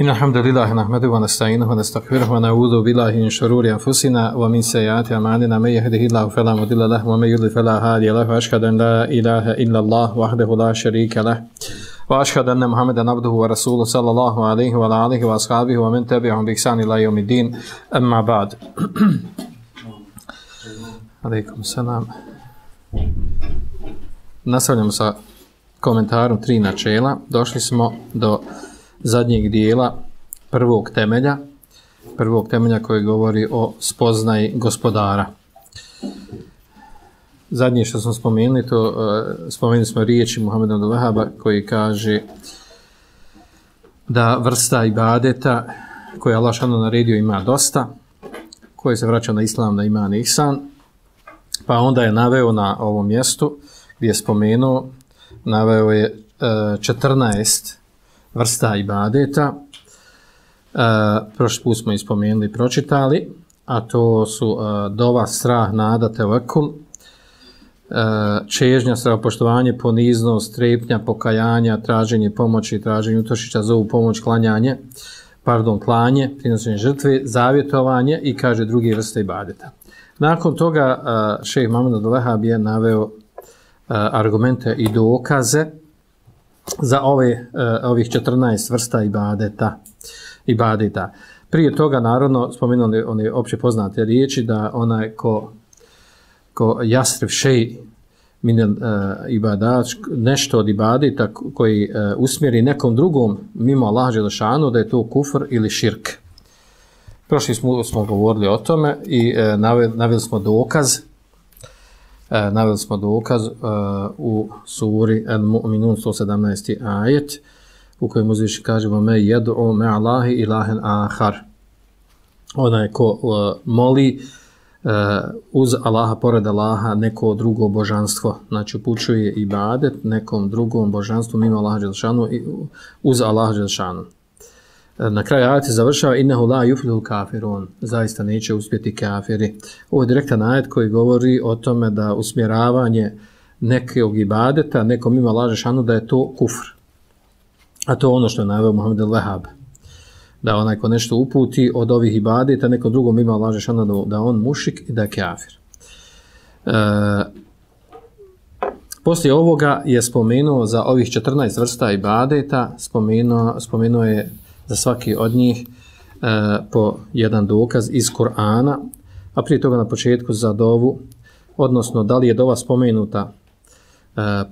إن الحمد لله نحمده ونستعينه ونستغفره ونعوذ بالله من شرور أنفسنا ومن سيئات أعمالنا من يهده الله فلا مضل له ومن يضلل فلا هادي له وأشهد أن لا إله إلا الله وحده لا شريك له وأشهد أن محمدا عبده ورسوله صلى الله عليه وعلى آله وأصحابه ومن تبعهم بإحسان إلى يوم الدين أما بعد عليكم السلام. Nastavljamo sa komentarom 3 načela. Došli smo do zadnjeg dijela prvog temelja koji govori o spoznaji gospodara. Zadnje što smo spomenuli, spomenuli smo riječi Muhameda ibn Vahaba koji kaže da vrsta ibadeta koje Allah šano naredio ima dosta, koji se vraća na islam, na iman i ihsan, pa onda je naveo na ovom mjestu gdje je spomenuo, naveo je 14 vrsta ibadeta. Prošli put smo ispomenuli i pročitali, a to su dova, strah, nada, tevekul, čežnja, strahopoštovanje, poniznost, strepnja, pokajanja, traženje pomoći, traženje utočića, zovu pomoć, klanje, prinošenje žrtve, zavjetovanje i kaže druge vrste ibadeta. Nakon toga šejh Muhammed ibn Vahab je naveo argumente i dokaze za ovih 14 vrsta ibadeta. Prije toga, naravno, spomenuli one opće poznate riječi da onaj ko jasrif šej min ibadat, nešto od ibadeta koji usmjeri nekom drugom mimo Allaha dželešanu, da je to kufr ili širk. Prošli smo govorili o tome i naveli smo dokaz. Naveli smo dokaz u suri Al-Mu'minun 117. ajet u kojem uzviši kaže me yad'u ma'allahi ilahen ahar. Onaj ko moli uz Allaha, pored Allaha, neko drugo božanstvo, znači upućuje ibadet nekom drugom božanstvu mimo Allaha dželešanu i uz Allaha dželešanu. Na kraju ajeta završava innehu la yuflihul kafirun, zaista neće uspjeti kafiri. Ovo je direktan ajet koji govori o tome da usmjeravanje nekog ibadeta nekom mimo Allaha dželešanu da je to kufr. A to je ono što je naveo Muhammed ibn Vahab, da onaj ko nešto uputi od ovih ibadeta nekom drugom mimo Allaha dželešanu da on mušik i da je kafir. Poslije ovoga je spomenuo za ovih 14 vrsta ibadeta, spomenuo je za svaki od njih po jedan dokaz iz Kur'ana, a prije toga na početku za dovu, odnosno da li je dova spomenuta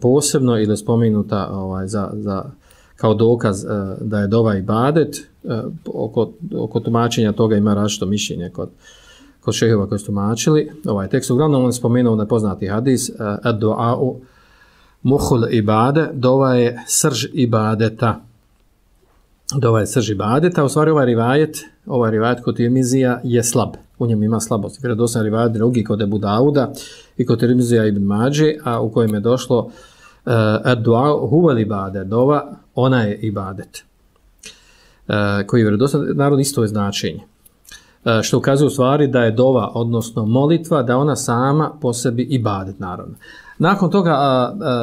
posebno ili spomenuta kao dokaz da je dova ibadet. Oko tumačenja toga ima različito mišljenje kod šehova koji su tumačili ovaj tekst. Uglavnom on je spomenuo nepoznati hadis ad-du'a'u muhul ibade, dova je srž ibadeta. Dova je srž ibadeta. U stvari ovaj rivajet kod Tirmizija je slab. U njemu ima slabost. Vjerodostojan rivajet drugi kod Ebu Dauda i kod Tirmizija ibn Mađe, a u kojem je došlo ad-du'a huvel ibade, dova, ona je ibadet. Koji je vjerodostojan, naravno isto je značenje. Što ukazuje u stvari da je dova, odnosno molitva, da ona sama po sebi ibadet, naravno. Nakon toga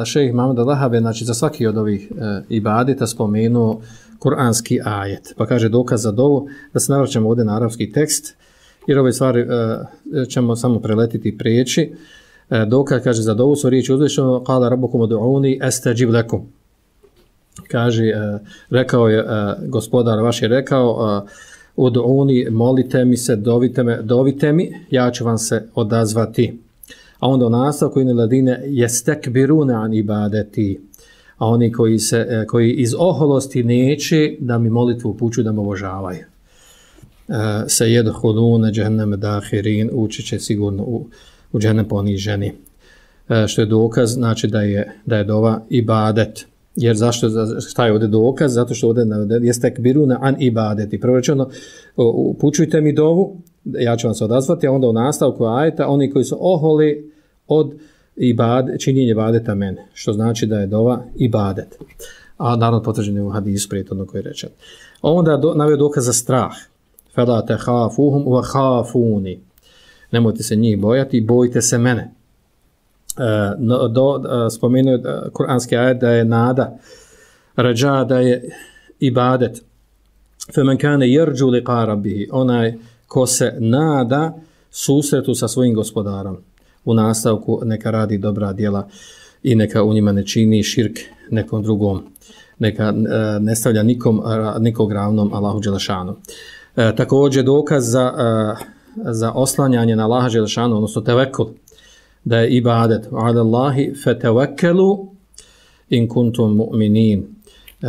šejh Muhammed ibn Vahab je, znači, za svaki od ovih ibadeta spomenuo kuranski ajet. Pa kaže dokaz za dovu, da se navraćamo ovdje na arapski tekst, jer ove stvari ćemo samo preletiti i prijeći. Dokaz, kaže, za dovu su riječi uzvišeno, kala rabbukum ud'uni astajib lakum. Kaže, rekao je, gospodar vaš je rekao, ud'uni, molite mi se, dovite mi, ja ću vam se odazvati. A onda u nastavku inne ladine jestekbirune an ibadeti, a oni koji iz oholosti neće da mi molitvu upućuju, da me obožavaju. Se jedhulune džehenneme dahirin, ući će sigurno u džehennem poniženi. Što je dokaz, znači da je dova ibadet. Jer šta je ovdje dokaz? Zato što ovdje jestekbirune an ibadeti. Prvo rečeno, upućujte mi dovu, ja ću vam se odazvati, a onda u nastavku ajeta, oni koji su oholi od činjenje ibadeta mene, što znači da je dova ibadet. A naravno potvrđen je u hadisu prijetodno koji je rečen. Onda naveo dokaz za strah. Fela te hafuhum wa hafuni. Nemojte se njih bojati, bojite se mene. Spomenuo kuranski ajet da je nada, rađa da je ibadet. فَمَنْ كَانَ يَرْجُو لِقَاءَ رَبِّهِ onaj ko se nada susretu sa svojim gospodarom. U nastavku neka radi dobra djela i neka u njima ne čini širk nekom drugom. Neka ne stavlja nikog ravnom Allahu Đelešanu. Također dokaz za oslanjanje na Allaha Đelešanu, odnosno tevekul, da je ibadet. Ala Allahi fetevekelu in kuntum mu'minin.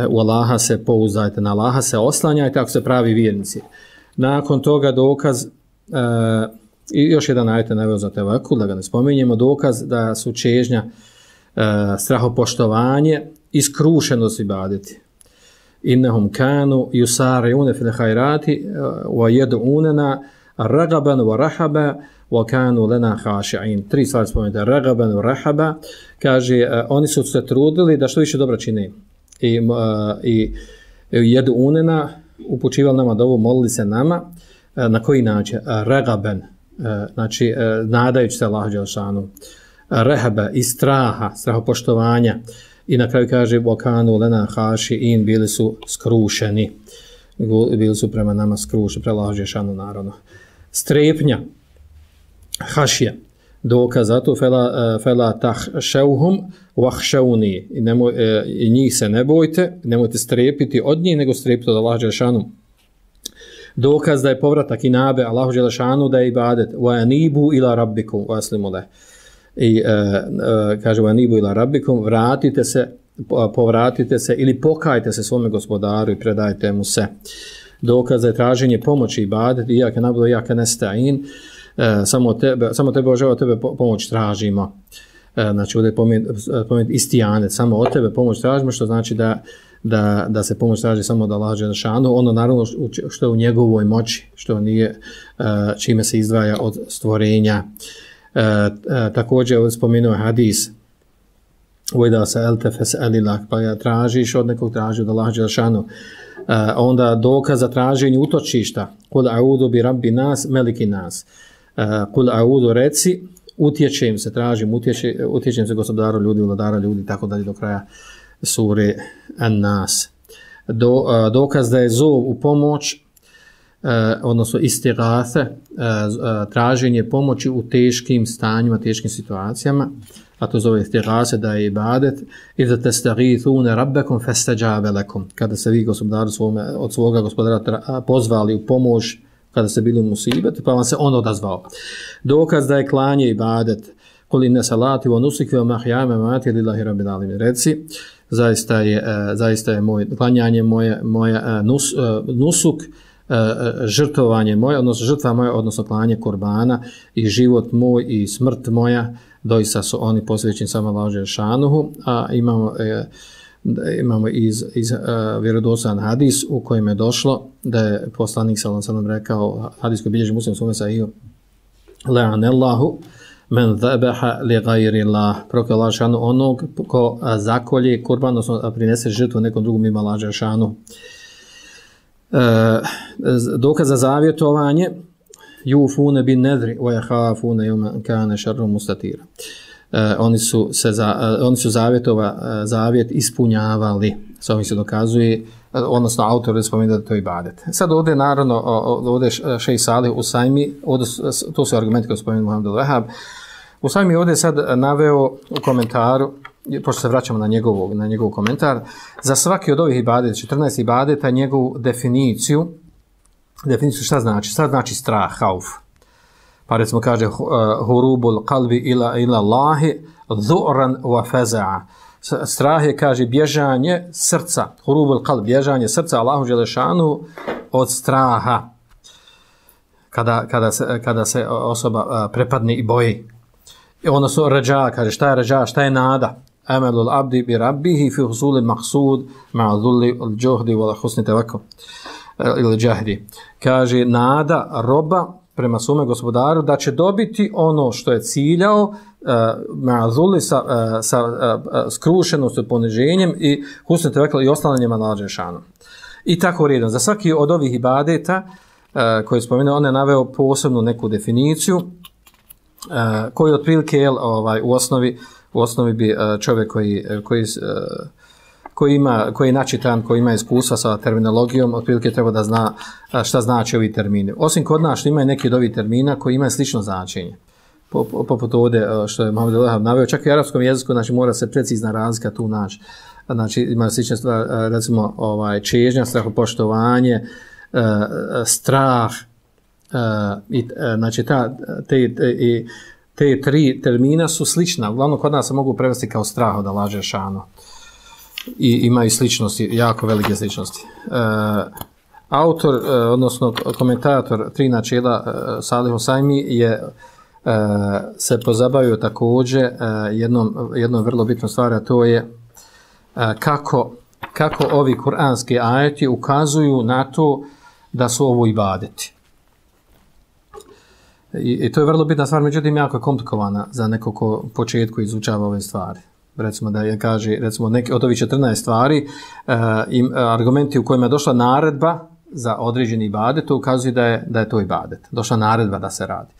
U Allaha se pouzdajte, na Allaha se oslanjajte ako se pravi vjernici. Nakon toga dokaz, i još jedan ajet je naveo za tevekul, da ga ne spominjemo, dokaz da su čežnja, strahopoštovanje i skrušenost ibadeti. Innahum kanu yusari'una fil khairati wa yad'unana ragaban wa rahaba wa kanu lana khashi'in. Tri stvari spomenute, ragaban wa rahaba, kaže oni su se trudili da što više dobra čine. I yad'unana, upućivali nama dovu, molili se nama, na koji način? Ragaban, znači nadajući se Allahu dželešanu, rahaba i strahopoštovanja. I na kraju kaže wakanu lana khashi'in, bili su skrušeni, bili su prema nama skrušeni, Allahu dželešanu naravno. Strepnja, hašija, dokaz za to, fela tahšauhum wahšauni, i njih se ne bojte, nemojte strepiti od njih, nego strepiti od Allahu dželešanu. Dokaz da je povratak inabe Allahu dželešanu, da je ibadet wa anibu ila rabbikum waslimu leh. I kaže vanibu ila rabbikum, povratite se ili pokajte se svome gospodaru i predajte mu se. Dokaz je traženje pomoći ibadet, iake nabdo, iake nesta'in, samo tebe ožava, tebe pomoć tražimo. Znači ovdje je pomenuti istijanet, samo od tebe pomoć tražimo, što znači da se pomoć traži samo od Allaha dželešanu, ono naravno što je u njegovoj moći, što nije čime se izdvaja od stvorenja. Također ovdje spomenuo hadis da se eltefes elilak, pa ja tražiš od nekog, traži od Allaha dželešanu. Onda dokaz za traženje utočišta, kul a'udu bi rabbi nas meliki nas, kul a'udu reci utječem se, tražim utječem se gospodaru ljudi, vladara ljudi, tako dalje do kraja sure An-Nas. Dokaz da je zov u pomoć, odnosno istighathe, traženje pomoći u teškim stanjima, teškim situacijama, a to zove istighathe, da je ibadet, idha tastaghithuna rabbakum fastajabe lakum, kada se vi gospodaru od svoga gospodara pozvali u pomoć, kada ste bili u musibetu, pa vam se on odazvao. Dokaz da je klanje ibadet, kul inna salati wa nusuki wa mahyaya wa mamati lillahi rabbil alamin. Reci, zaista je moje klanjanje, moja nusuk, žrtvovanje moje, odnosno žrtva moja, odnosno klanje kurbana, i život moj i smrt moja, doista su oni posvećeni samo Allahu dželešanuhu. A imamo iz vjerodostojan hadis u kojem je došlo da je poslanik sallallahu alejhi ve sellem rekao, hadis koji bilježi Muslim u svome sahihu, la'anallahu men dhabaha li ghayri Allah, prokletstvo Allahu dželešanu onog ko zakolje kurban, odnosno prinese žrtvu nekom drugom mimo Allahu dželešanu. Dokaz za zavjetovanje, yufuna bin nadri wa yakhafuna yawman kana sharru mustatira. Oni su zavjet ispunjavali. Sa ovim se dokazuje, odnosno autor spomenuo da to je ibadet. Sad ovdje naravno, ovdje Šejh Salih Usajmi, to su argumenti koje spomenuo Muhammed al-Wahhab. Usajmi ovdje sad naveo u komentaru, pošto se vraćamo na njegov komentar, za svaki od ovih ibadeta, 14 ibadeta, njegovu definiciju šta znači? Šta znači strah, hauf? Pa recimo kaže hurubul qalbi ila Allahi dhu'ran wa faza'a. Strah je, kaže, bježanje srca, hurubul qalb, bježanje srca Allahu dželešanu od straha. Kada se osoba prepadne i boji. Odnosno rađa, kaže, šta je rađa, šta je nada? Amalul abdi bi rabbihi fi husuli maqsud ma'a dhulli al-juhdi wa husni tawakkul ili džahdi. Kaže, nada roba prema svome gospodaru da će dobiti ono što je ciljao, ma'zuli sa skrušenosti, poniženjem i husni tawakkul i oslanjanjem Allahu dželešanu. I tako redom. Za svaki od ovih ibadeta koji je spomenuo, on je naveo posebnu neku definiciju koji koji je načitan, koji ima iskustva sa terminologijom, otprilike treba da zna šta znači ovi termini. Osim kod nas što ima neki od ovih termina koji imaju slično značenje. Poput ovdje što je Muhammed Lehab naveo, čak i u arapskom jeziku, znači mora se precizna razlika tu naći. Znači ima slične stvari, recimo čežnja, strahopoštovanje, strah, znači te tri termina su slična. Uglavnom kod nas se mogu prevesti kao strah od Allaha dželešanu. I imaju sličnosti, jako velike sličnosti. Autor, odnosno komentator tri načela Salih Husajmi je se pozabavio također jednom vrlo bitnom stvari, a to je kako ovi kuranski ajeti ukazuju na to da su ovo ibadeti. I to je vrlo bitna stvar, međutim jako je komplikovana za neko ko početku izučava ove stvari. Recimo da je kaže, recimo neki od ovih 14 stvari, argumenti u kojima je došla naredba za određeni ibadet, to ukazuje da je to ibadet. Došla naredba da se radi.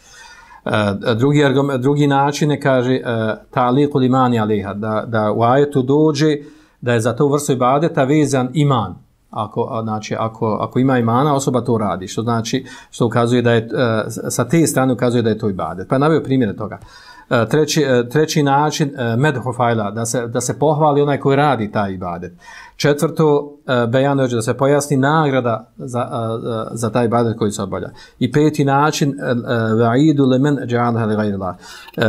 Drugi način je, kaže, ta'liqul imani aliha, da u ajetu dođe da je za to vrstu ibadeta vezan iman. Ako ima imana, osoba to radi, što ukazuje da je, sa te strane ukazuje da je to ibadet. Pa je naveo primjere toga. Treći način, medhu fajla, da se pohvali onaj koji radi taj ibadet. Četvrto, bejan dođe, da se pojasni nagrada za taj ibadet koji se obavlja. I peti način, va'idu lemen dža'alha li gajrillah,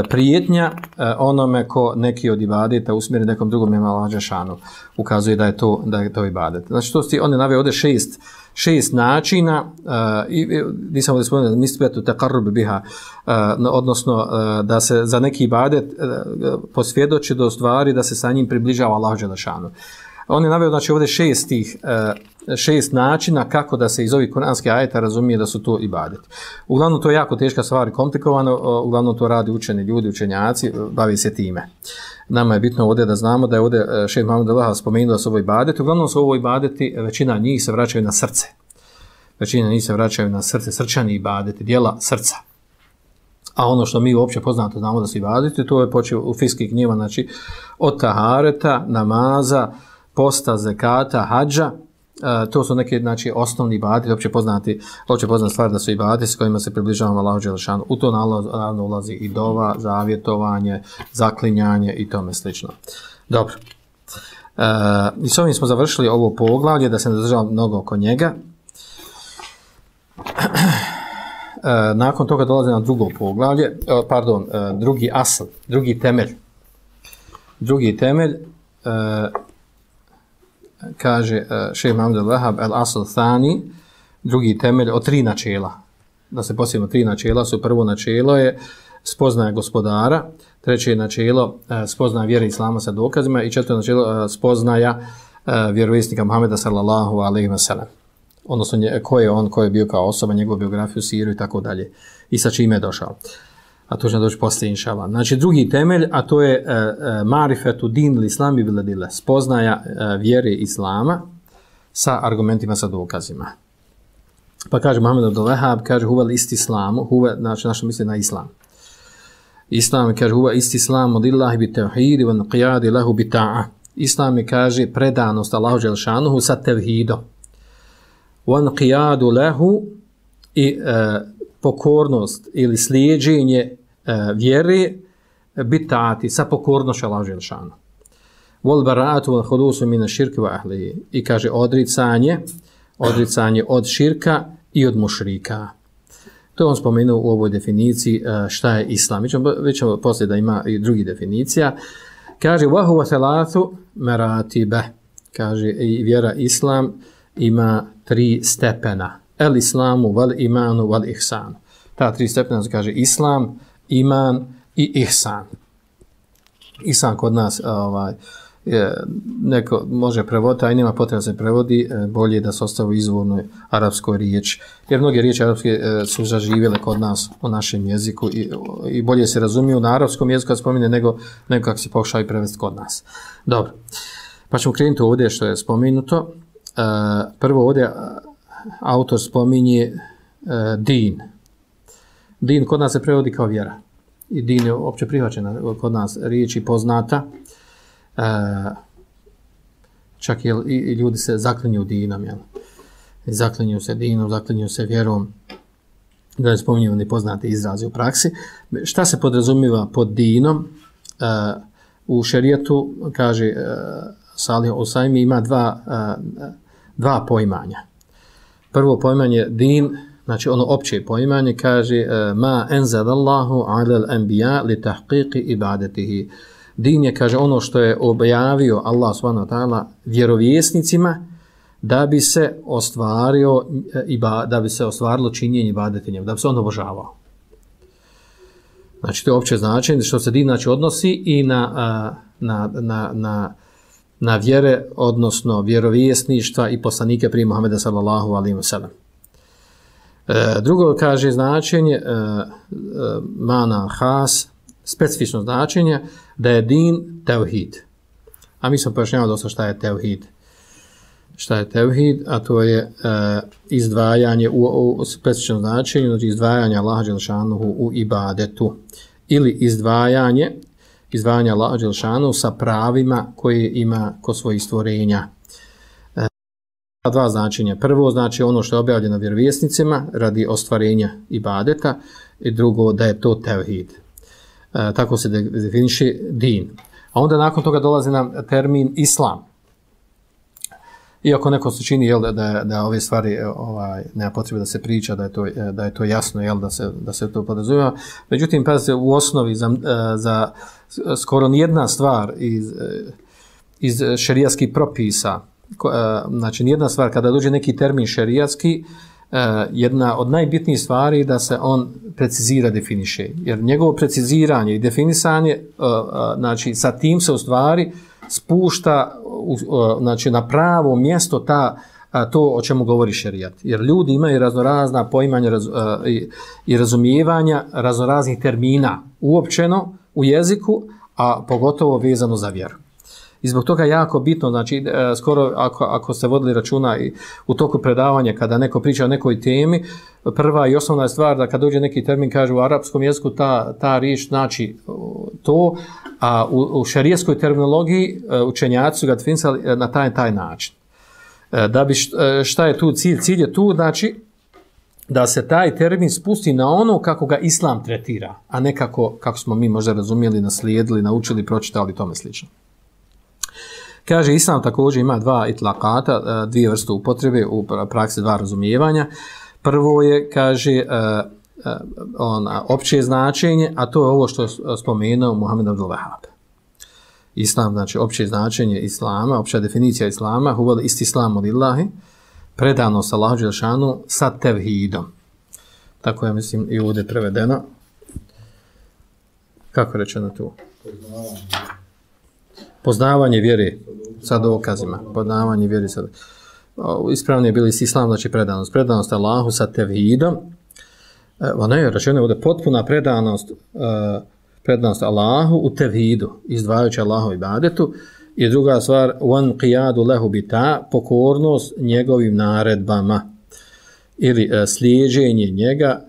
prijetnja onome ko neki od ibadeta usmjeri nekom drugom mimo Allaha dželešanu, ukazuje da je to ibadet. Znači, on je naveo ovdje šest načina, nisam ovdje spomenuo, nisbetu taqarrub biha, odnosno da se za neki ibadet posvjedoči do stvari da se sa njim približava Allahu dželešanu. On je naveo, znači, ovdje šest načina kako da se iz ovih kuranskih ajeta razumije da su to ibadeti. Uglavnom, to je jako teška stvar i komplikovano, uglavnom to radi učeni ljudi, učenjaci, bavi se time. Nama je bitno ovdje da znamo da je ovdje šejh Muhammed Lehab spomenuo da su ovo ibadeti. Uglavnom su ovo ibadeti, većina njih se vraćaju na srce. Većina njih se vraćaju na srce, srčani ibadeti, djela srca. A ono što mi uopće poznato znamo da su ibadeti, to je počeo u fiskih knjigama, znači od tahareta, namaza, posta, zekata, hadža, to su neke, znači, osnovni ibadeti, opće poznati stvari da su ibadeti s kojima se približavamo Allahu dželešanu. U to naravno ulazi i dova, zavjetovanje, zaklinjanje i tome slično. Dobro. I s ovim smo završili ovo poglavlje, da se ne zadržavam mnogo oko njega. Nakon toga dolazi na drugo poglavlje, drugi asl, drugi temelj. Drugi temelj, kaže šejh Muhammed Lehab, el asl thani, drugi temelj od tri načela. Da se posjetimo, tri načela su: prvo načelo je spoznaja gospodara, treće načelo spoznaja vjere islama sa dokazima i četvrto načelo spoznaja vjerovjesnika Muhameda sallallahu alejhi ve sellem. Odnosno ko je on, ko je bio kao osoba, njegovu biografiju, siru i tako dalje. I sa čime je došao. A to će doći poslije, inšallah. Znači, drugi temelj, a to je marifetu din l'islami biladile, spoznaja vjere islama sa argumentima, sa dokazima. Pa kaže Muhammed Lehab, kaže huvel istislamu, znači našto misli na islam. Islam, kaže, huve istislamu lillahi bi tevhidi van qiyadi lahu bi ta'a. Islam je, kaže, predanost Allahu dželšanuhu sa tevhidom. Van qiyadu lahu i pokornost ili slijeđenje vjere bitati sa pokornošću Allahu dželšanu. Wal bara'atu wal khudusu min ash-shirki wa ahlihi. I kaže odricanje od širka i od mušrika. To on spomenuo u ovoj definiciji šta je islam. Već ćemo poslije da ima i drugi definicija. Kaže wa huwa thalathu maratiba. Kaže i vjera islam ima 3 stepena. El islamu wal imanu wal ihsan. Ta 3 stepena se kaže islam, iman i ihsan. Ihsan kod nas neko može prevoditi, a i nema potreba da se prevodi, bolje da se ostavi izvornoj arapskoj riječi. Jer mnoge riječi arapske su zaživjele kod nas u našem jeziku i bolje se razumiju na arapskom jeziku kad spomine nego kako se pokušaju prevesti kod nas. Dobro. Pa ćemo krenuti ovdje što je spomenuto. Prvo ovdje autor spominje din. Din kod nas se prevodi kao vjera. I din je opće prihvaćena kod nas riječi poznata. čak i ljudi se zaklinju dinom, jel? Zaklinju se dinom, zaklinju se vjerom, da ne spominjamo nepoznate izraze u praksi. Šta se podrazumijeva pod dinom? U šerijatu, kaže Salih Usajmi, ima dva poimanja. Prvo poimanje din, znači ono opće poimanje, kaže ma enzalallahu alal anbiya li tahqiqi ibadatihi. Din je, kaže, ono što je objavio Allah subhanahu wa ta'ala vjerovjesnicima da bi se ostvarilo činjenje ibadetinjem, da bi se on obožavao. Znači to je opće značenje što se din znači odnosi i na vjere, odnosno vjerovjesništva i poslanike prije Muhameda sallallahu alejhi ve sellem. Drugo kaže značenje mana has, specifično značenje da je din tevhid. A mi smo pojašnjavali dosta šta je tevhid. Šta je tevhid, a to je izdvajanje u specifičnom značenju, znači izdvajanje Allaha dželešanuhu u ibadetu ili izdvajanje Allaha dželešanuhu sa pravima koje ima kod svojih stvorenja. Dva značenja. Prvo znači ono što je objavljeno vjerovjesnicima radi ostvarenja ibadeta i drugo da je to tevhid. Tako se definiše din. A onda nakon toga dolazi nam termin islam. Iako neko se čini da ove stvari nema potrebe da se priča, da je to jasno, da se to podrazumijeva. Međutim, pazite, u osnovi za skoro nijedna stvar iz šerijatskih propisa, znači nijedna stvar, kada dođe neki termin šerijatski, jedna od najbitnijih stvari da se on precizira, definiše. Jer njegovo preciziranje i definisanje, znači sa tim se u stvari spušta znači na pravo mjesto to o čemu govori šerijat. Jer ljudi imaju raznorazna poimanja i razumijevanja raznoraznih termina uopćeno u jeziku, a pogotovo vezano za vjeru. I zbog toga jako bitno, znači skoro ako ste vodili računa i u toku predavanja kada neko priča o nekoj temi, prva i osnovna stvar da kad dođe neki termin kaže u arapskom jeziku ta riječ znači to, a u šerijatskoj terminologiji učenjaci su ga definisali na taj način. Da bi šta je tu cilj? Cilj je tu znači da se taj termin spusti na ono kako ga islam tretira, a ne kako smo mi možda razumjeli, naslijedili, naučili, pročitali i tome slično. Kaže, islam također ima dva itlaqata, dvije vrste upotrebe, u praksi dva razumijevanja. Prvo je, kaže, opće značenje, a to je ovo što je spomenuo Muhammed Abdul Wahhab. Islam, znači opće značenje islama, opća definicija islama, huvel istislamu lillahi, predanost Allahu dželešanu sa tevhidom. Tako je, mislim, i ovdje prevedeno. Kako rečeno tu? Poznavanje vjere sa dokazima. Poznavanje vjere sa ispravno je bili islam, znači predanost. Predanost Allahu sa tevhidom. Ona je rečeno ovdje potpuna predanost Allahu u tevhidu, izdvajajući Allahu ibadetu. I druga stvar, wan qiyadu lahu bita, pokornost njegovim naredbama. Ili slijeđenje njega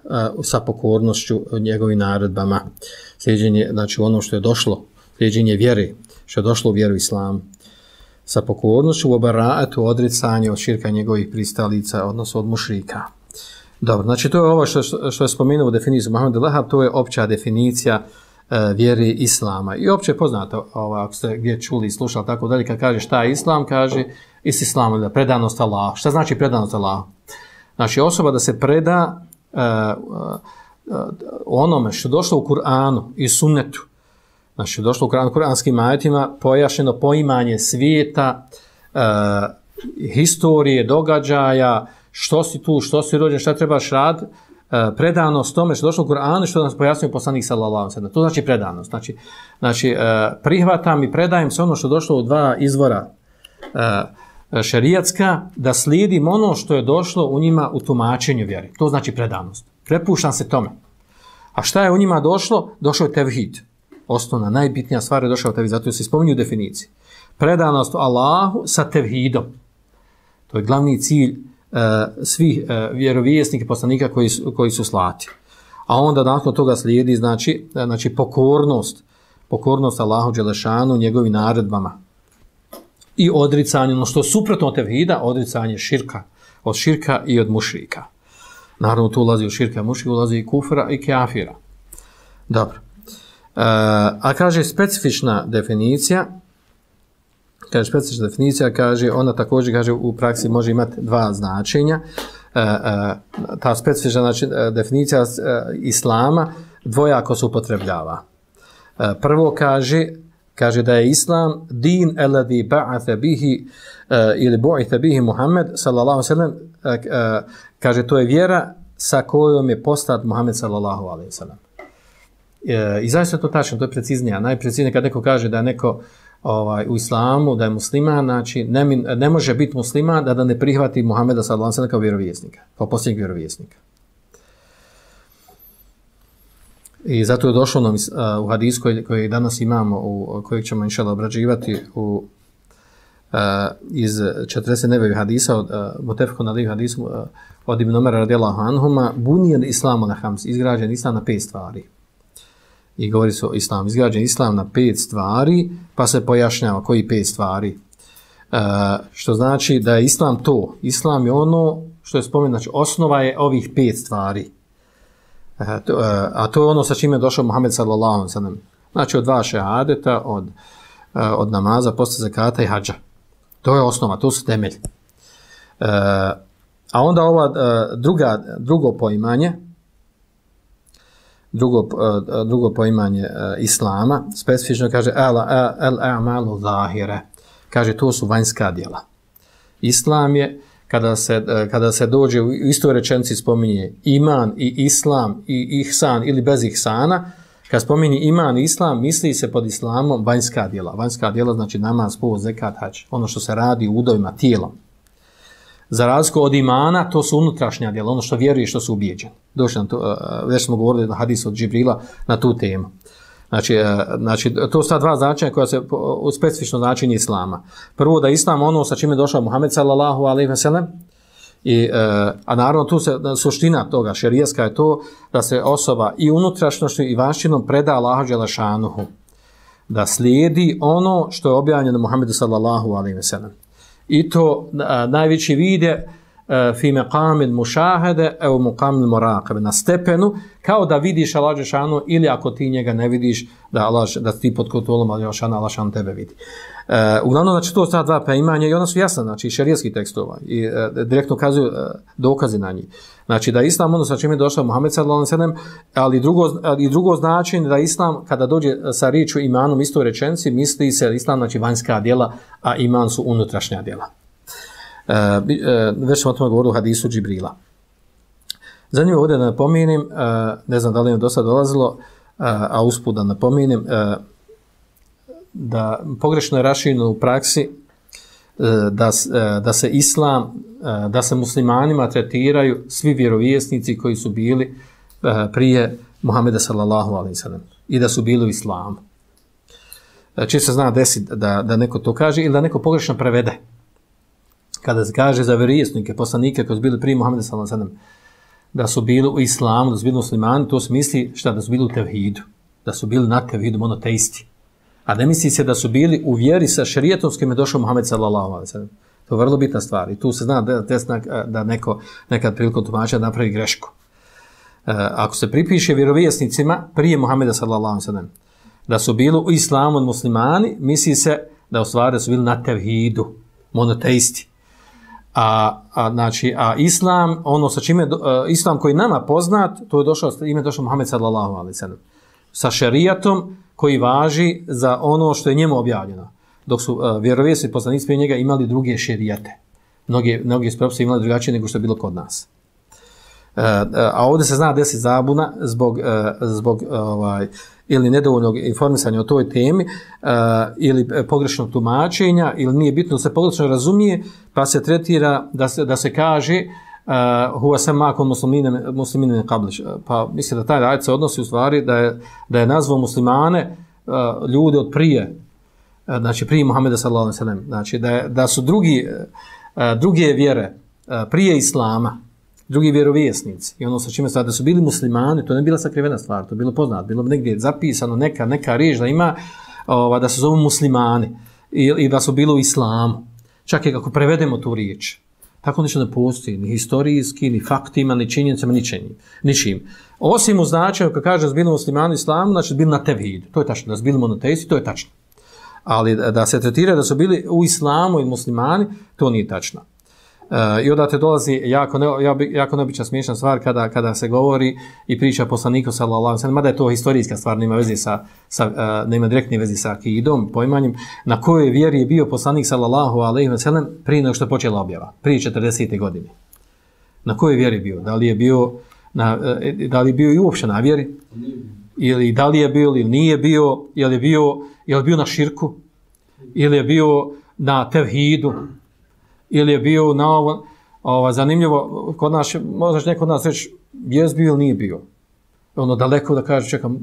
sa pokornošću njegovim naredbama. Slijeđenje, znači ono što je došlo, slijeđenje vjere, što je došlo u vjeru islamu. Sa pokornošću u bara'atu, odricanje od širka njegovih pristalica, odnosno od mušrika. Dobro, znači to je ovo što je spomenuo u definiciju Muhammed Wahhab, to je opća definicija vjeri islama. I opće je poznato, ako ste gdje čuli i slušali tako dalje, kad kaže šta je islam, kaže islam, da predanost Allahu. Šta znači predanost Allahu? Znači osoba da se preda onome što je došlo u Kur'anu i sunnetu. Znači došlo u kuranskim ajetima pojašnjeno poimanje svijeta, historije, događaja, što si tu, što si rođen, šta trebaš raditi, predanost tome što je došlo u Kur'anu, što nas pojasnio poslanik sallallahu alejhi ve sellem. To znači predanost. Znači prihvatam i predajem se ono što je došlo u dva izvora šerijatska, da slijedim ono što je došlo u njima u tumačenju vjere. To znači predanost. Prepuštam se tome. A šta je u njima došlo? Došao je tevhid. Osnovna, najbitnija stvar je došao tevhid, zato se spominju u definiciji. Predanost Allahu sa tevhidom. To je glavni cilj svih vjerovjesnika i poslanika koji su slati. A onda nakon toga slijedi znači pokornost Allahu dželešanu njegovim naredbama. i odricanje, ono što je suprotno od tevhida, odricanje širka, od širka i od mušrika. Naravno, tu ulazi u širka i mušrika, ulazi i kufra i kafira. Dobro. A kaže specifična definicija, kaže, ona također kaže u praksi može imati dva značenja. Ta specifična definicija islama dvojako se upotrebljava. Prvo kaže da je islam din alladhi ba'atha bihi ili bu'itha bihi Muhammed sallallahu alejhi ve sellem, kaže to je vjera sa kojom je poslat Muhammed sallallahu alejhi ve sellem. I zaista to tačno, to je preciznije. Najpreciznije kad neko kaže da je neko u islamu, da je musliman, znači ne može biti musliman da ne prihvati Muhameda sallallahu alejhi ve sellem kao vjerovjesnika, kao posljednjeg vjerovjesnika. I zato je došlo u hadisu koji danas imamo, kojeg ćemo inšallah obrađivati iz 40 nevevih hadisa, od Mutefekun alejhi hadisu od Ibn Omara radijallahu anhuma, bunijel islamu na hams, izgrađen islam na 5 stvari. I govori se o islamu, izgrađen islam na 5 stvari, pa se pojašnjava koji 5 stvari. Što znači da je islam to. Islam je ono što je spomenuto, znači osnova je ovih 5 stvari. A to je ono sa čime je došao Muhammed sallallahu alejhi ve sellem. Znači od 2 šehadeta, od namaza, posta zakata i hadža. To je osnova, to su temelji. A onda ova drugo poimanje, drugo poimanje islama, specifično kaže al-a'malu zahire. Kaže to su vanjska djela. Islam je kada se dođe u istoj rečenici spominje iman i islam i ihsan ili bez ihsana, kad spominje iman i islam, misli se pod islamom vanjska djela. Vanjska djela znači namaz, post, zekat, hadž, ono što se radi u udovima tijelom. Za razliku od imana, to su unutrašnja djela, ono što vjeruje i što su ubijeđeni. Došli nam to, već smo govorili na hadisu od Džibrila na tu temu. Znači, to su ta dva značenja koja se u specifično značenje islama. Prvo da islam ono sa čime je došao Muhammed sallallahu alejhi ve sellem, a naravno tu se suština toga šerijaska je to da se osoba i unutrašnjošću i vanjštinom preda Allahu dželle šanuhu, da slijedi ono što je objavljeno Muhammedu sallallahu alejhi ve sellem. I to najveći vide fi maqamil mušahede evo muqamil muraqabe, na stepenu kao da vidiš Allah dželle ili ako ti njega ne vidiš da ti pod kontrolom Allah dželle tebe vidi. Uglavnom znači to su ta dva poimanja i ona su jasna, znači šerijski tekstova i direktno ukazuju dokazi na njih. Znači da islam ono sa čime je došao Muhammed sallallahu alejhi ve sellem, ali drugo značenje da islam kada dođe sa riječju imanom istoj rečenici misli se islam znači vanjska djela, a iman su unutrašnja djela. Već smo o tome govorili u hadisu Džibrila. Zanimljivo ovdje da napomenem, ne znam da li je do sada dolazilo, a usput da napomenem, da pogrešno je rašireno u praksi da se islam, da se muslimanima tretiraju svi vjerovjesnici koji su bili prije Muhameda sallallahu alejhi ve sellem i da su bili u islamu. Često se zna desiti da neko to kaže ili da neko pogrešno prevede. Kada se kaže za vjerovjesnike, poslanike koji su bili prije Muhameda sallallahu alejhi ve sellem, da su bili u islamu, da su bili muslimani, to se misli da su bili u tevhidu, da su bili na tevhidu, monoteisti. A ne misli se da su bili u vjeri sa šerijetom s kojim je došao Muhammed sallallahu alejhi ve sellem. To je vrlo bitna stvar i tu se zna da neko nekad prilikom tumačenja napravi grešku. Ako se pripiše vjerovjesnicima prije Muhameda sallallahu alejhi ve sellem da su bili u islamu muslimani, misli se da u stvari su bili na tevhidu, monoteisti. A islam, ono sa čime islam koji nama poznat, to je došao Muhammed sallallahu alejhi ve sellem sa šerijatom koji važi za ono što je njemu objavljeno. Dok su vjerovjesnici poslanici prije njega imali druge šerijate. Mnogi propisi imali drugačije nego što je bilo kod nas. A ovdje se zna desiti zabuna zbog ili nedovoljnog informisanja o toj temi ili pogrešnog tumačenja ili nije bitno da se pogrešno razumije, pa se tretira da se kaže huwa samakum muslimina min qabl. Pa mislim da taj ajet se odnosi u stvari da je nazvao muslimane ljude od prije, znači prije Muhameda sallallahu alejhi ve sellem, znači da su druge vjere prije islama, drugi vjerovjesnici i ono sa čime da su bili muslimani, to ne bila sakrivena stvar, to je bilo poznato, bilo negdje zapisano neka riječ da ima da se zovu muslimani. i da su bili u islamu. Čak i kako prevedemo tu riječ. Tako ništa ne postoji, ni historijski, ni faktima, ni činjenicama, ničim. Osim u značaju, kad kaže da su bili muslimani u islamu, znači da su bili na tevhidu. To je tačno, da su bili monoteisti, to je tačno. Ali da se tretira da su bili u islamu i muslimani, to nije tačno. I odate dolazi jako neobična smiješna stvar kada se govori i priča poslaniku sallallahu alejhi ve sellem, mada je to historijska stvar, nema veze nema direktne veze sa akidom, poimanjem, na kojoj vjeri je bio poslanik sallallahu alejhi ve sellem prije nego što je počela objava, prije 40. godine. Na kojoj vjeri bio? Da li je bio i uopšte na vjeri? Ili da li je bio ili nije bio? Je li bio na širku? Ili je bio na tevhidu? Ili je bio na ovo, zanimljivo, kod nas, možda neko od nas reći, jes bio ili nije bio. Ono daleko da kaže, čekam,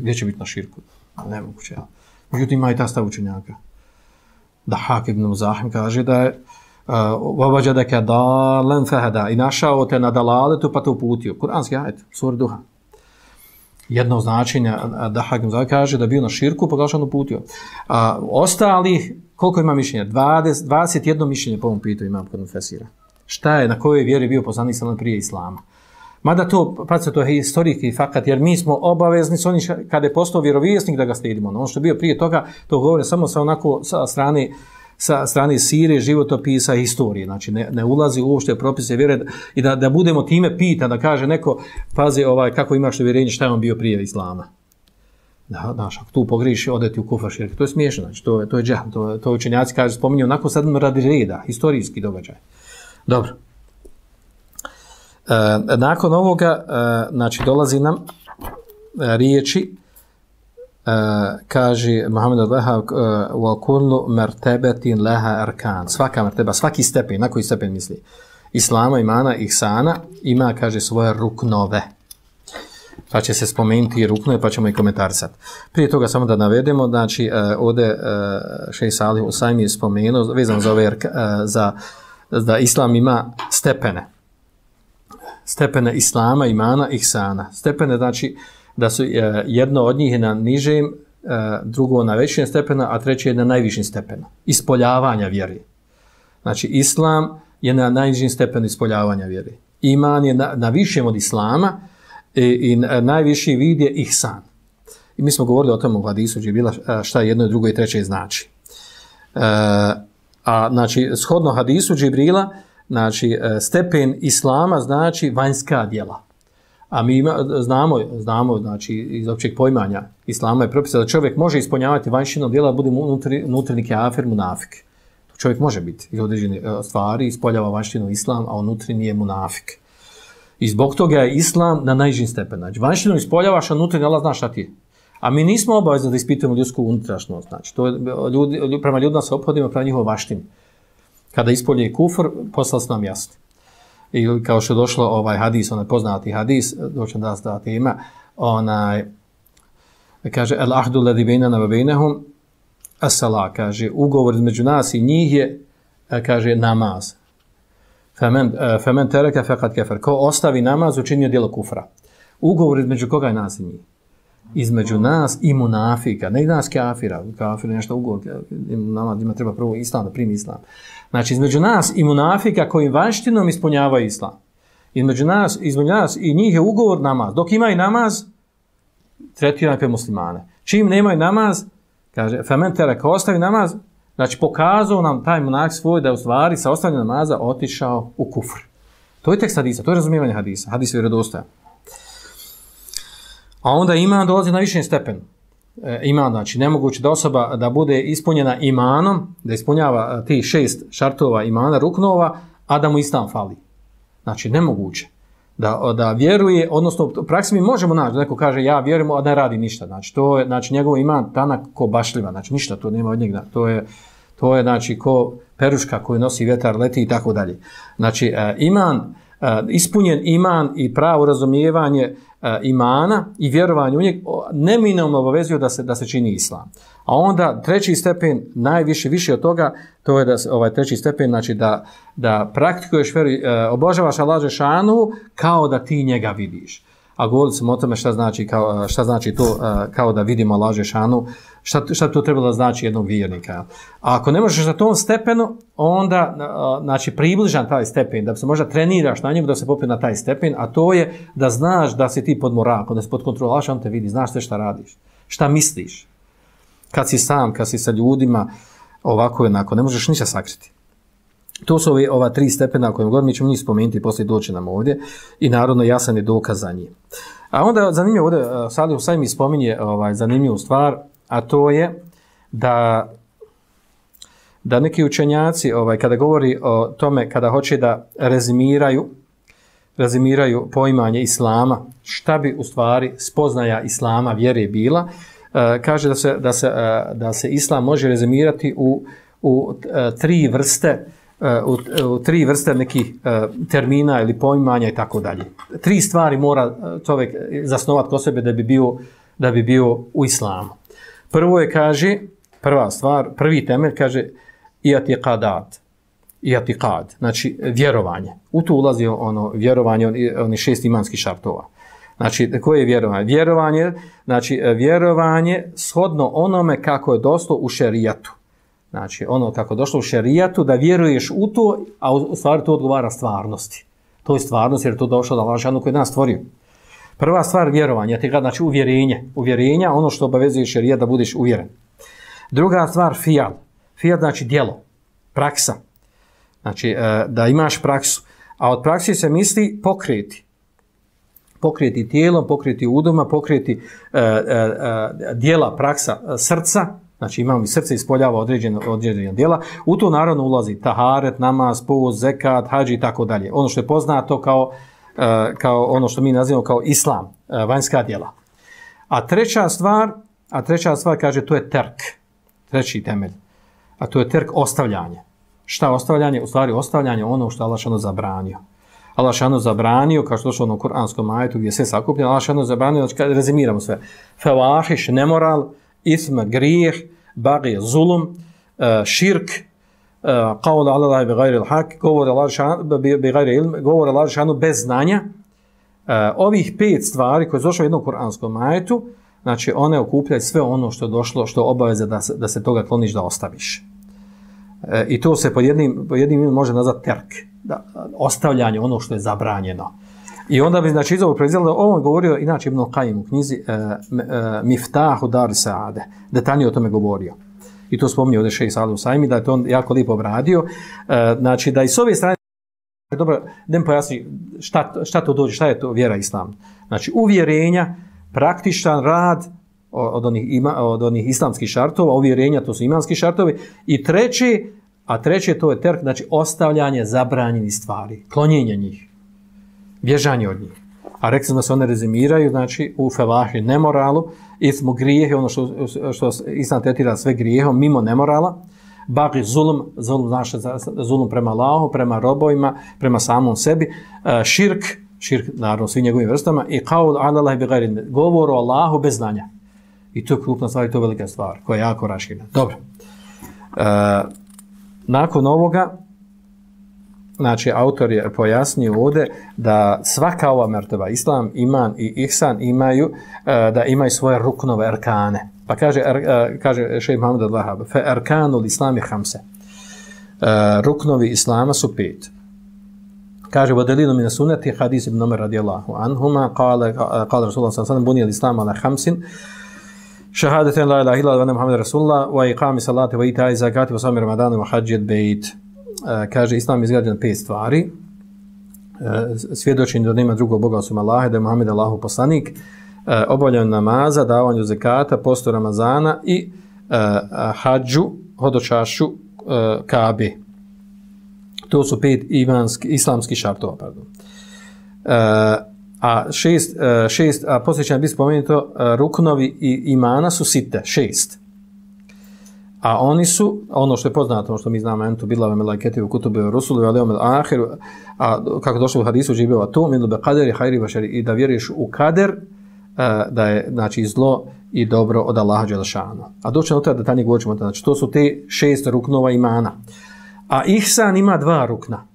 gdje će biti na širku? Nemoguće, ja. Međutim, ima i ta stav učenjaka. Dahak ibn Muzahim kaže da je وَوَجَدَكَ دَالًا فَهَدَا i našao te na dalaletu pa te uputio. Kur'anski ajet, sura Duha. Jedno značenje, Dahak ibn Muzahim kaže da je bio na širku pa ga on uputio. Ostalih, koliko ima mišljenja? 21 mišljenje po ovom pitu imam kod Mufesira. Šta je, na kojoj vjeri bio poslanik sallallahu prije islama? Mada to, to je historijski fakat, jer mi smo obavezni s onim kada je postao vjerovjesnik da ga slijedimo. Ono što je bio prije toga, to govore samo sa strane sire, životopisa i historije. Znači ne ulazi uopšte propise vjere i da budemo time pita, da kaže neko, pazi kako imaš uvjerenje, šta je on bio prije islama. Znaš, ako tu pogriši, ode ti u kufar širke. To je smiješno, znači, to je džah, to učenjaci kažu, spominju onako sad radi reda, historijski događaj. Dobro. Nakon ovoga, znači, dolazi nam riječi, kaže Muhammed al-Wahhab, وَكُلُّ مَرْتَبَةٍ لَهَا أَرْكَانٍ svaka merteba, svaki stepen, na koji stepen misli? Islama, imana, ihsana, ima, kaže, svoje ruknove. Pa će se spomenuti i ruknove, pa ćemo i komentarisati. Prije toga samo da navedemo, znači ovdje šejh Salih Usajmi je spomenuo, vezano za ove, da islam ima stepene. Stepene islama, imana, ihsana. Stepene, znači, da su jedno od njih je na nižem, drugo na većem stepenu, a treće je na najvišim stepenu. Ispoljavanja vjeri. Znači, islam je na najnižim stepenu ispoljavanja vjeri. Iman je na višem od islama, i najviši vid je ihsan. I mi smo govorili o tom u hadisu Džibrila šta jedno, drugo i treće znači. A znači, shodno hadisu Džibrila, znači, stepen islama znači vanjska djela. A mi znamo znači, iz općeg pojmanja islama je propisa da čovjek može ispunjavati vanjšino djela, bude unutarnji kafir, munafik. Čovjek može biti iz određene stvari, ispoljava vanjštinu islam, a unutarnji nije munafik. I zbog toga je islam na najnižim stepenu. Znači, vanjštinu ispoljavaš, a unutarnji Allah zna šta ti je. A mi nismo obavezni da ispitujemo ljudsku unutrašnost. Znači, to je, prema ljudima se ophodimo prema njihovoj vaštini. Kada ispolje kufr, poslali su nam jasni. I kao što je došlo hadis, onaj poznati hadis, doćem da tema, kaže, el ahdu ladhi bejnana wa bejnehum as-salah, kaže, ugovor između nas i njih je, kaže, namaz. Femen tereka fekad kefer. Ko ostavi namaz, učinio djelo kufra. Ugovor između koga je nas i njih? Između nas i munafika. Ne nas kafira. Kafir je nešto ugovor. Nama treba prvo islam, da primi islam. Znači, između nas i munafika koji vanjštinom ispunjavaju islam. Između nas i njih je ugovor namaz. Dok imaju namaz, tretiraju pe muslimane. Čim nemaju namaz, kaže, femen tereka, ostavi namaz, znači, pokazao nam taj monah svoj da je u stvari sa ostavljanjem namaza otišao u kufr. To je tekst hadisa, to je razumijevanje hadisa. Hadis je vjerodostojan. A onda iman dolazi na višem stepenu. Iman, znači, nemoguće da osoba da bude ispunjena imanom, da ispunjava ti 6 šartova imana, ruknova, a da mu islam fali. Znači, nemoguće. Da vjeruje, odnosno, u praksi mi možemo naći, da neko kaže, ja vjerujem, a ne radi ništa. Znači, to je, znači, njegov iman tanak ko bašljiva. Znači, ništa, to nema od njega. To je, znači, ko peruška koji nosi vjetar, leti i tako dalje. Znači, ispunjen iman i pravo razumijevanje imana i vjerovanje u njeg neminovno obavezuju da se čini islam. A onda treći stepen, više od toga, to je da treći stepen, znači da praktikuješ vjeru, obožavaš Allah dželešanu kao da ti njega vidiš. a govorili smo o tome šta znači to kao da vidimo Allah dželešanu, šta to trebalo da znači jednog vjernika. A ako ne možeš na tom stepenu, onda znači približan taj stepen, da se možda treniraš na njemu da se popne na taj stepen, a to je da znaš da si ti pod morakom, da si pod kontrolaš, on te vidi, znaš sve šta radiš, šta misliš. Kad si sam, kad si sa ljudima, ovako jednako, ne možeš ništa sakriti. To su ova 3 stepena koje god mi ćemo njih spomenuti i poslije doći nam ovdje i naravno jasan je dokaz za njih. A onda zanimljivo ovdje, Salih Husajmi spominje zanimljivu stvar, a to je da neki učenjaci kada govori o tome, kada hoće da rezimiraju poimanje islama, šta bi u stvari spoznaja islama vjere bila, kaže da se islam može rezimirati u 3 vrste u 3 vrste nekih termina ili poimanja i tako dalje. 3 stvari mora čovjek zasnovati kod sebe da bi bio u islamu. Prvo je, kaže, prva stvar, prvi temelj, kaže i'tiqad, znači vjerovanje. U to ulazi vjerovanje, oni 6 imanskih šartova. Znači, koje je vjerovanje? Znači, vjerovanje shodno onome kako je došlo u šerijatu. Znači, ono kako je došlo u šerijatu, da vjeruješ u to, a u stvari to odgovara stvarnosti. To je stvarnost jer je to došlo da Allah dželešanu koji je nas stvorio. Prva stvar vjerovanje, znači uvjerenja, ono što obavezuje šerijat da budeš uvjeren. Druga stvar fijal znači djelo, praksa. Znači, da imaš praksu. A od praksi se misli pokreti tijelom, pokreti udoma, pokreti djela, praksa srca. Znači imamo i srce ispoljava određena djela. U to naravno ulazi taharet, namaz, post, zekat, hadž i tako dalje. Ono što je poznato kao ono što mi nazivamo kao islam, vanjska djela. A treća stvar kaže to je terk, treći temelj. A to je terk ostavljanje. Šta ostavljanje? U stvari ostavljanje ono što Allah dželešanu zabranio. Allah dželešanu zabranio, kao što je došlo u kuranskom ajetu gdje je sve sakupljeno, Allah dželešanu zabranio, znači rezimiramo sve. Fevahiš, nemoral, ism, grijeh, bagi, zulum, širk, qaul ala Allahi bi gajri l-hak, govor Allah dželešanu bez znanja. Ovih 5 stvari koje je došlo u jednom kuranskom ajetu, znači one okupljaju sve ono što je došlo, što je obaveza da se toga kloniš da ostaviš. I to se pod jednim može nazvati terk, ostavljanje ono što je zabranjeno. I onda bi znači iz ovog proizvjela da ovo govorio inače Ibn Qayyim u knjizi Miftahu Dar Saade, detaljnije o tome govorio. I to spominje ovdje šejh Salih Husajmi, da je to on jako lijepo obradio. Znači da i s ove strane, dobro, da mi pojasni šta to dođe, šta je to vjera islam. Znači uvjerenja, praktičan rad od onih islamskih šartova, uvjerenja to su imanski šartovi. I treće to je terk, znači ostavljanje zabranjenih stvari, klonjenje njih. Bježanje od njih. A rekli smo da se one rezimiraju, znači u fevahi nemoralu, ismu grijehe, ono što islam tretira sve grijehom, mimo nemorala, bagi zulum znači zulum prema Allahu, prema robovima, prema samom sebi, širk naravno svim njegovim vrstama, i qaul ala Allahi bi gajri, govor o Allahu bez znanja. I to je krupna stvar i to je velika stvar, koja je jako raširena. Dobro. Nakon ovoga, znači, autor je pojasnio ovdje da svaka ova merteba, islam, iman i ihsan da imaju svoje ruknove, arkane. Pa kaže šejh Muhammed al-Wahhab, fe arkanul islami hamse. Ruknovi islama su 5. Kaže, vodelilu min sunnati hadis ibn Umar radijallahu anhuma, kale Rasulullah sallam, bunija l-islam ala hamsin, šahadaten la ilaha illa wa Muhammed Rasulullah, wa iqami salati, wa ita'i zakati, wa sami ramadanu, wa hajjat bejt. Kaže, islam je izgrađen 5 stvari. Svjedočenje da nema drugog Boga osim Allaha, da je Muhammed Allahu poslanik, obavljanje namaza, davanju zekata, postu Ramazana i hadžu, hodočašću Kabe. To su 5 islamskih šartova. A poslije će nam biti spomenuto, ruknovi i imana su site, 6. A oni su, ono što je poznato, ono što mi znamo, entu billahi meleketi u kutubi u rusuli, ali omel ahiru, a kako došlo u hadisu živjeva to, min be kaderi, hajri, vašari, i da vjeruješ u kader, da je, znači, zlo i dobro od Allaha dželešanu. A doći na to da tanje govorimo, znači, to su te 6 ruknova imana. A ihsan ima 2 rukna.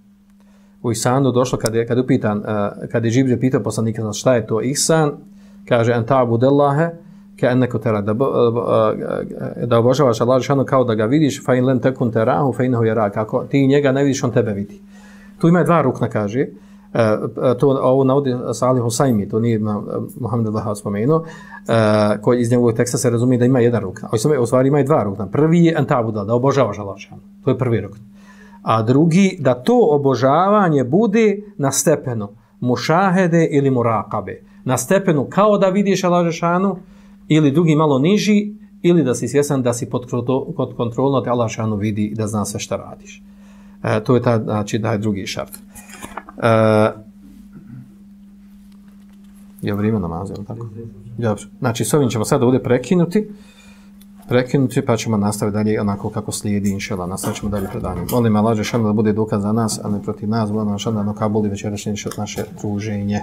u ihsanu došlo kad je upitan, kad je Džibril pitao poslanika šta je to ihsan, kaže an ta'budallaha ka'annaka tara, da obožavaš Allaha dželle kao da ga vidiš, fa in lam takun tarahu fa innahu yarak, ako ti njega ne vidiš, on tebe vidi. Tu ima dva rukna, kaže, to ovo navodi Salih Husajmi, to nije Muhammed al-Wahhab spomenuo, koji iz njegovog teksta se razumije da ima jedan rukna. U stvari ima i dva rukna. Prvi je an ta'buda, da obožavaš Allaha dželle, to je prvi rukn. A drugi, da to obožavanje bude na stepenu mušahede ili murakabe. Na stepenu kao da vidiš Allaha dželle, ili drugi malo niži, ili da si svjesan da si pod kontrolom te Allah šanu vidi i da zna sve šta radiš. To je znači da je drugi šart. Je vrijeme namaza, ili tako? Dobro. Znači, s ovim ćemo sada ovdje prekinuti, pa ćemo nastaviti dalje onako kako slijedi, inšela. Nastavit ćemo dalje predanje. Molim Allah šanu da bude dokaz za nas, a ne protiv nas. Molim Allah šanu da nakabuli večerašnje naše druženje.